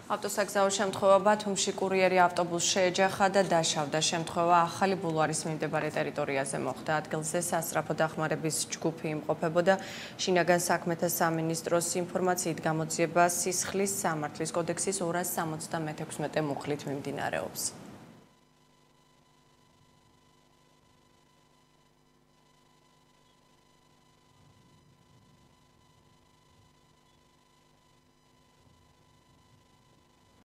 ავტოსაგზაო შემთხვევა ბათუმში კურიერი ავტობუსს შეეჯახა და დაშავდა. შემთხვევა ახალი ბულვარის მიმდებარე ტერიტორიაზე მოხდა. ადგილზე სასწრაფო დახმარების ჯგუფი იმყოფებოდა. შინაგან საქმეთა სამინისტროს ინფორმაციით გამოძიება სისხლის სამართლის კოდექსის 276 მუხლით მიმდინარეობს.